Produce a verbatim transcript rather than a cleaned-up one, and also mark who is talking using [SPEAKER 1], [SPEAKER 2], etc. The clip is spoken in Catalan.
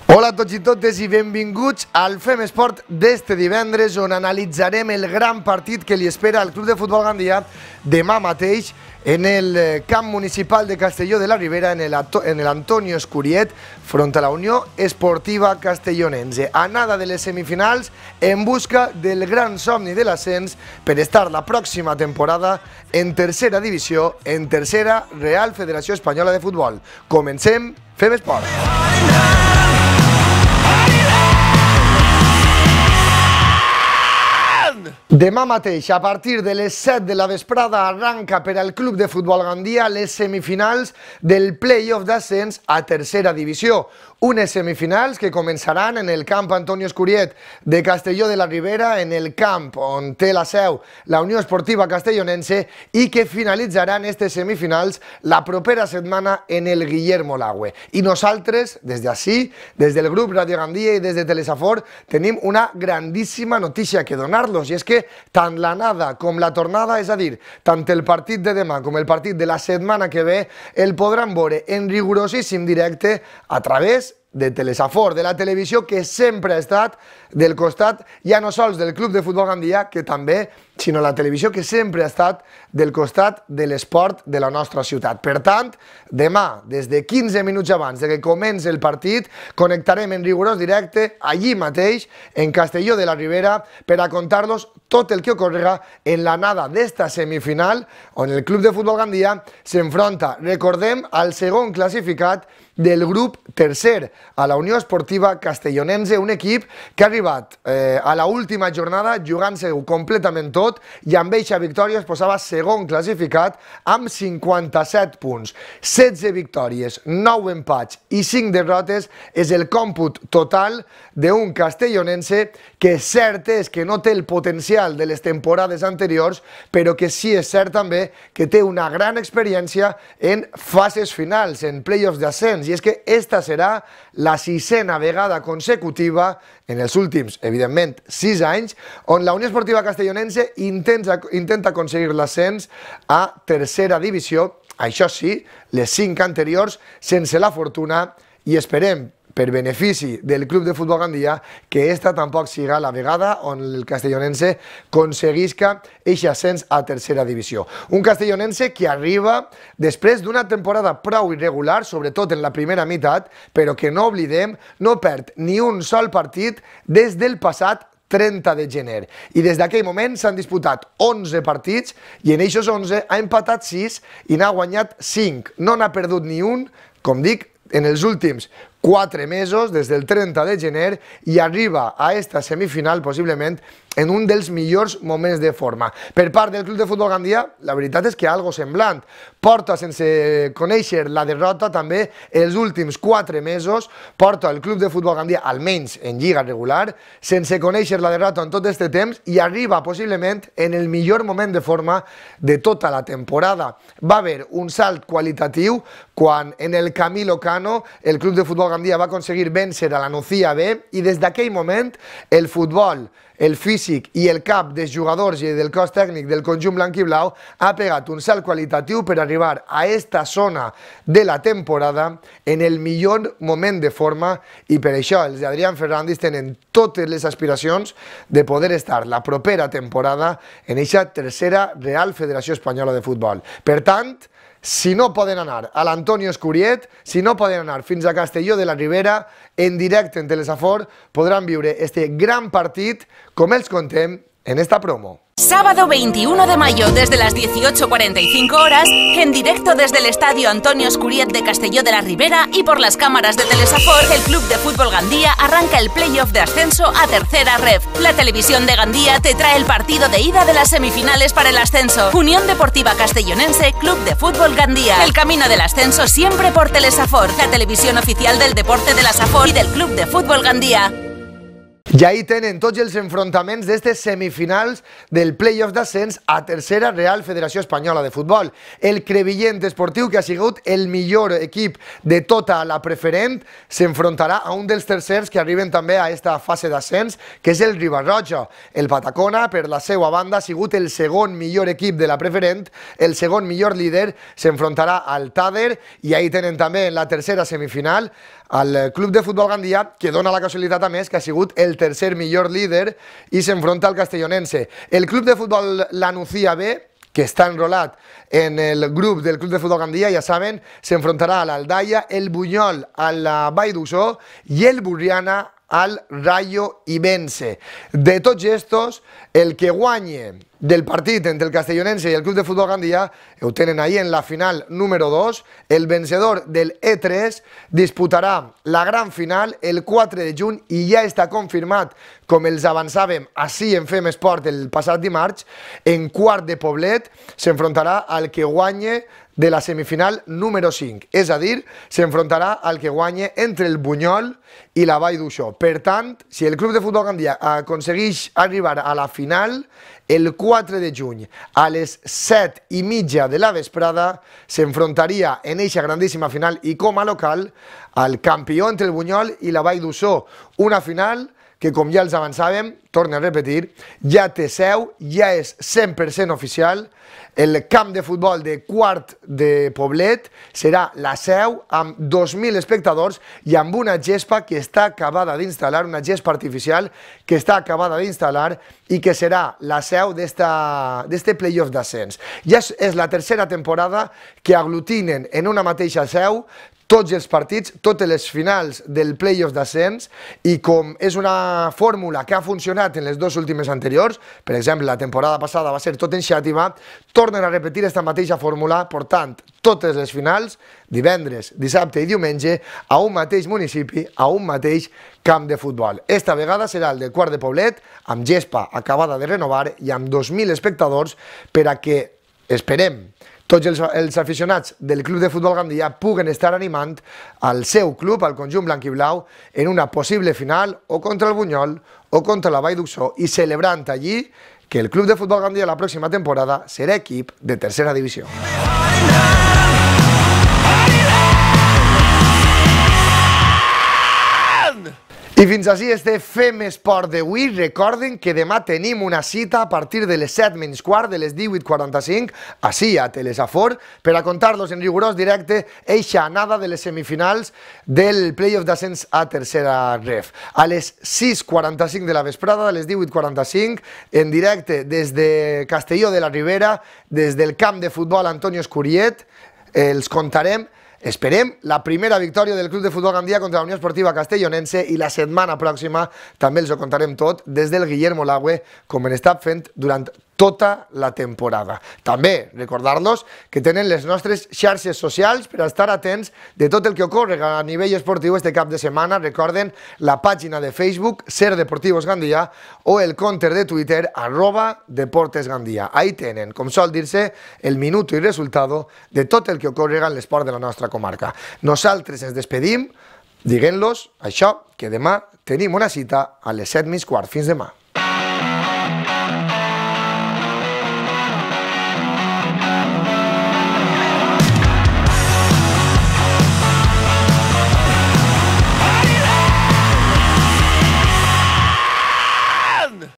[SPEAKER 1] Hola a tots i totes i benvinguts al Fem Esport d'este divendres, on analitzarem el gran partit que li espera al Club de Futbol Gandia demà mateix en el camp municipal de Castelló de la Ribera, en l'Antonio Escuriet, front a la Unió Esportiva Castellonense. A nada de les semifinals, en busca del gran somni de l'ascens per estar la pròxima temporada en tercera divisió, en tercera Real Federació Espanyola de Futbol. Comencem, Fem Esport. Demà mateix, a partir de les set de la vesprada, arranca per al Club de Futbol Gandia les semifinals del play-off d'ascens a tercera divisió. Unes semifinals que començaran en el camp Antonio Escuriet de Castelló de la Ribera, en el camp on té la seu la Unió Esportiva Castellonense, i que finalitzaran aquestes semifinals la propera setmana en el Guillermo Lagüe. I nosaltres, des d'ací, des del grup Radio Gandia i des de Telesafor, tenim una grandíssima notícia que donar-los, i és que tant l'anada com la tornada, és a dir, tant el partit de demà com el partit de la setmana que ve, el podran veure en rigorosíssim directe a través de Telesafor, de la televisió que sempre ha estat del costat, ja no sols del Club de Futbol Gandia, que també, sinó la televisió que sempre ha estat del costat de l'esport de la nostra ciutat. Per tant, demà, des de quinze minuts abans de que comenci el partit, connectarem en rigorós directe allí mateix, en Castelló de la Ribera, per a contar-los tot el que ocorrerà en l'anada d'esta semifinal, on el Club de Futbol Gandia s'enfronta, recordem, al segon classificat del grup tercer, a la Unió Esportiva Castellonense, un equip que ha arribat eh, a l'última jornada jugant-se-ho completament tot, i amb eixa victòria es posava segon classificat amb cinquanta-set punts. setze victòries, nou empats i cinc derrotes és el còmput total d'un castellonense que cert és que no té el potencial de les temporades anteriors, però que sí és cert també que té una gran experiència en fases finals, en play-offs d'ascens, i és que esta serà la sisena vegada consecutiva en els últims, evidentment, sis anys, on la Unió Esportiva Castellonense intenta, intenta aconseguir l'ascens a tercera divisió, això sí, les cinc anteriors sense la fortuna, i esperem, per benefici del Club de Futbol Gandia, que esta tampoc siga la vegada on el castellonense aconseguisca aquest ascens a tercera divisió. Un castellonense que arriba després d'una temporada prou irregular, sobretot en la primera meitat, però que no oblidem, no perd ni un sol partit des del passat trenta de gener. I des d'aquell moment s'han disputat onze partits i en aquests onze ha empatat sis i n'ha guanyat cinc. No n'ha perdut ni un, com dic, en els últims quatre mesos, des del trenta de gener, i arriba a esta semifinal possiblement en un dels millors moments de forma. Per part del Club de Futbol Gandia, la veritat és que algo semblant. Porta sense conèixer la derrota també els últims quatre mesos, porta el Club de Futbol Gandia, almenys en lliga regular, sense conèixer la derrota en tot aquest temps, i arriba possiblement en el millor moment de forma de tota la temporada. Va haver un salt qualitatiu quan en el Camilo Cano el Club de Futbol Gandia va aconseguir vèncer a la Nucía B, i des d'aquell moment el futbol, el físic i el cap dels jugadors i del cos tècnic del conjunt blanc i blau ha pegat un salt qualitatiu per arribar a esta zona de la temporada en el millor moment de forma, i per això els d'Adrián Fernández tenen totes les aspiracions de poder estar la propera temporada en aquesta tercera Real Federació Espanyola de Futbol. Per tant, si no poden anar a l'Antonio Escuriet, si no poden anar fins a Castelló de la Ribera, en directe en Telesafor, podran viure este gran partit, com els contem en esta promo.
[SPEAKER 2] Sábado veintiuno de mayo desde las dieciocho cuarenta y cinco horas, en directo desde el Estadio Antonio Escuriet de Castelló de la Ribera y por las cámaras de Telesafor, el Club de Futbol Gandia arranca el playoff de ascenso a tercera ref. La televisión de Gandia te trae el partido de ida de las semifinales para el ascenso. Unión Deportiva Castellonense, Club de Futbol Gandia. El camino del ascenso siempre por Telesafor, la televisión oficial del deporte de la Safor y del Club de Futbol Gandia.
[SPEAKER 1] I ahí tenen tots els enfrontaments d'estes semifinals del play-off d'ascens a tercera Real Federació Espanyola de Futbol. El Crevillent Esportiu, que ha sigut el millor equip de tota la preferent, s'enfrontarà a un dels tercers que arriben també a aquesta fase d'ascens, que és el Ribarroja. El Patacona, per la seva banda, ha sigut el segon millor equip de la preferent, el segon millor líder, s'enfrontarà al Tàder, i ahí tenen també en la tercera semifinal al Club de Futbol Gandia, que dona la casualitat a més que ha sigut el tercer millor líder i s'enfronta al castellonense. El Club de Futbol La Nucía B, que està enrolat en el grup del Club de Futbol Gandia, ja saben, s'enfrontarà a l'Aldaia, el Bunyol a la Vall d'Uixó i el Burriana al Rayo Ibense. De tots estos, el que guanye del partit entre el castellonense i el Club de Futbol Gandia ho tenen ahí en la final número dos. El vencedor del E tres disputarà la gran final el quatre de juny i ja està confirmat, com els avançàvem així en Fem Esport el passat dimarts, en Quart de Poblet s'enfrontarà al que guanye de la semifinal número cinc, és a dir, s'enfrontarà al que guanye entre el Bunyol i la Vall d'Uixó. Per tant, si el Club de Futbol Gandia aconsegueix arribar a la final, el quatre de juny a les set i mitja de la vesprada s'enfrontaria en eixa grandíssima final i com a local al campió entre el Bunyol i la Vall d'Uixó. Una final que, com ja els avançàvem, torno a repetir, ja té seu, ja és cent per cent oficial. El camp de futbol de Quart de Poblet serà la seu amb dos mil espectadors i amb una gespa que està acabada d'instal·lar, una gespa artificial que està acabada d'instal·lar i que serà la seu d'este playoff d'ascens. Ja és la tercera temporada que aglutinen en una mateixa seu tots els partits, totes les finals del playoff d'ascens, i com és una fórmula que ha funcionat en les dues últimes anteriors, per exemple, la temporada passada va ser tot en Xàtiva, tornen a repetir aquesta mateixa fórmula, portant totes les finals, divendres, dissabte i diumenge, a un mateix municipi, a un mateix camp de futbol. Esta vegada serà el de Quart de Poblet, amb gespa acabada de renovar i amb dos mil espectadors per a que, esperem, tots els, els aficionats del Club de Futbol Gandia puguen estar animant al seu club, al conjunt blanc i blau, en una possible final o contra el Bunyol o contra la Vall d'Uixó i celebrant allí que el Club de Futbol Gandia la pròxima temporada serà equip de tercera divisió. I fins així este Fem Esport d'avui. Recorden que demà tenim una cita a partir de les set menys quart, de les divuit quaranta-cinc, així a Telesafor, per a contar-los en rigorós directe eixa anada de les semifinals del playoff d'ascens a tercera ref. A les sis quaranta-cinc de la vesprada, a les divuit quaranta-cinc, en directe des de Castelló de la Ribera, des del camp de futbol Antonio Escuriet, els contarem. Esperem la primera victòria del Club de Futbol Gandia contra la Unió Esportiva Castellonense i la setmana pròxima també els ho contarem tot des del Guillermo Lagüe, com hem estat fent durant tota la temporada. També recordar-los que tenen les nostres xarxes socials per estar atents de tot el que ocorre a nivell esportiu este cap de setmana. Recorden la pàgina de Facebook Ser Deportivos Gandia o el compte de Twitter arroba Deportes Gandia. Ahí tenen, com sol dir-se, el minuto i resultado de tot el que ocorre en l'esport de la nostra comarca. Nosaltres ens despedim dient-los això, que demà tenim una cita a les set menys quart. Fins demà.